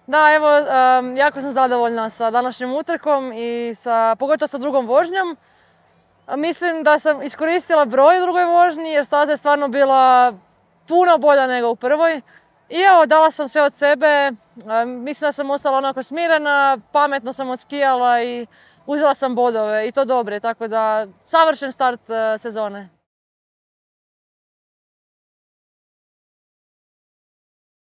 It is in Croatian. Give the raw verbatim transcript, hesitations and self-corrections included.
Da, evo, um, jako sam zadovoljna sa današnjom utrkom i sa, pogotovo sa drugom vožnjom. Mislim da sam iskoristila broj u drugoj vožnji jer staza je stvarno bila puno bolja nego u prvoj. I evo, dala sam sve od sebe, mislim da sam ostala onako smirena, pametno sam odskijala i uzela sam bodove i to dobre, tako da savršen start sezone.